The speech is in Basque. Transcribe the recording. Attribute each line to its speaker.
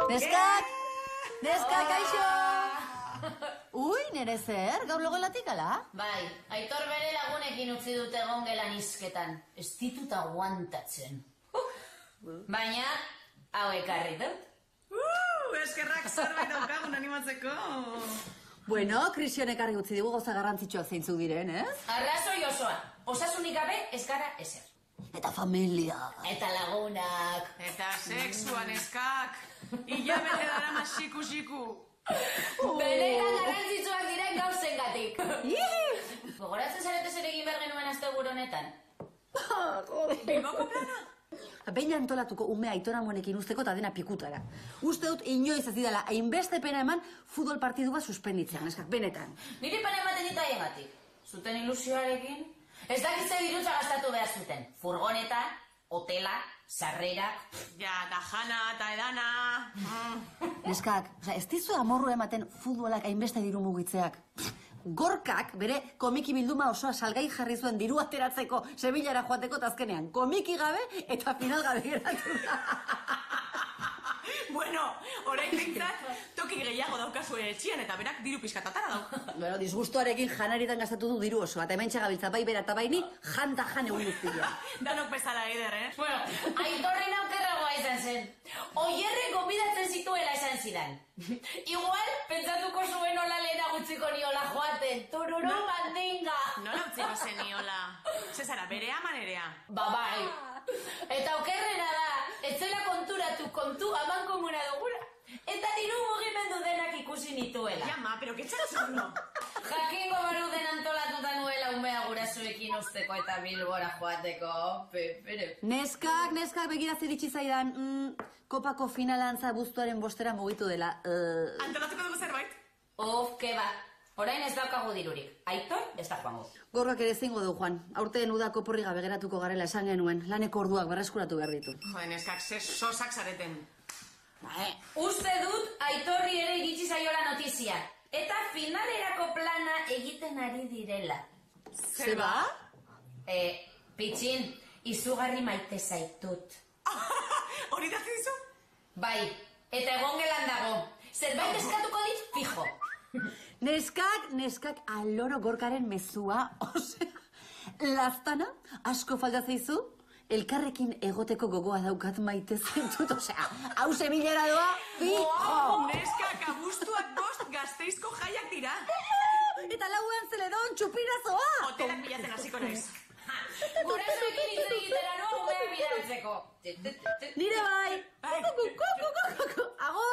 Speaker 1: Neskak! Neskak, kaixo! Ui, nere zer, gaur logelatik ala?
Speaker 2: Bai, Aitor bere lagunekin utzi dute egon gelan izketan. Ez ditut aguantatzen. Baina, hau ekarri dut.
Speaker 3: Eskerrak zerbait daukagun animatzeko.
Speaker 1: Bueno, Kristian ekarri utzi digu gauza garrantzitsuak zeintzuk diren, ez?
Speaker 2: Arrazoi osoa, osasunik gabe ez gara ezer.
Speaker 1: Eta familia.
Speaker 2: Eta lagunak.
Speaker 3: Eta sexuan eskak. Ila bete dara masiku-siku.
Speaker 2: Benetan garrantzitsuak diren gauzengatik. Gogoratzen zarete zer egin behar genuen asteburu honetan?
Speaker 3: Bilboko plana?
Speaker 1: Behin antolatuko umea Aitora Monekin usteko eta dena pikutara. Uste dut inoiz ez didala hainbeste pena eman futbol partidu bat suspenditzean, eskak, benetan.
Speaker 2: Niri pena ematen dit haiengatik. Zuten ilusioarekin? Ez dakitze dirutza gastatu behar zuten. Furgoneta, hotela, sarrera...
Speaker 3: Ja, da jana eta edana...
Speaker 1: Neskak, ez dizu amorru ematen futbolak hainbeste diru mugitzeak. Gorkak bere komiki bilduma osoa salgai jarri zuen diru ateratzeko Sevillara joateko azkenean komiki gabe eta final gabe geratu da.
Speaker 3: Bueno, orain bintzat, toki gehiago daukazu etxian eta berak diru pizkatatara dau.
Speaker 1: Bueno, disgustuarekin janaritan gastatu du diru osoa, eta hemen txagabiltza bai bera eta baini janta jan egun guztia.
Speaker 3: Danok bezala eider,
Speaker 2: Bueno, Aitorren aukerragoa izan zen. Oierre gonbidatzen zituela esan zidan. Igual, pentsatuko zuen hola lehena gutziko niola joaten. Tururu mandinga.
Speaker 3: Nola utziko zeniola? Zezara, bere amanerea.
Speaker 2: Bai. Eta okerrena da, etzela konturatu kontu aman komuna dugula. Eta diru mugimendu denak ikusi nituela.
Speaker 3: Jama, pero que txatxorno.
Speaker 2: Jakingo baru den antolatuta nuela umea gurasoekin usteko eta Bilbora joateko. Pero...
Speaker 1: Neskak begira zer itxi zaidan, kopako finalantza buztuaren bostera mugitu dela.
Speaker 3: Antolatuko dugu zerbait?
Speaker 2: Ke ba. Orain ez daukagu dirurik. Aitor, ez da joango.
Speaker 1: Gorrak ere zingo du, Juan. Aurten udako porri gabe geratuko garela esan genuen. Laneko orduak berreskuratu behar ditu.
Speaker 3: Joden, eskak, ze sosak zareten.
Speaker 2: Uste dut Aitorri ere iritsi zaiola notizia. Eta finalerako plana egiten ari direla.
Speaker 1: Zeba?
Speaker 2: Pitxin, izugarri maite zaitut.
Speaker 3: Hori da zizu?
Speaker 2: Bai, eta egon gelan dago. Zerbait eskatuko dit fijo.
Speaker 1: Neskak aloro Gorkaren mezua, osea, laztana, asko falta zaizu, elkarrekin egoteko gogoa daukat maite zaitut, osea, hau Sevillera doa, fijo!
Speaker 3: Neskak, abuztuak bost Gasteizko jaiak dira.
Speaker 1: Eta lauean zeledon txupinazoa!
Speaker 3: Hotelak bilatzen hasiko naiz.
Speaker 2: Gurasoekin hitz egitera noa umeak bidaltzeko.
Speaker 1: Nire bai! Agur!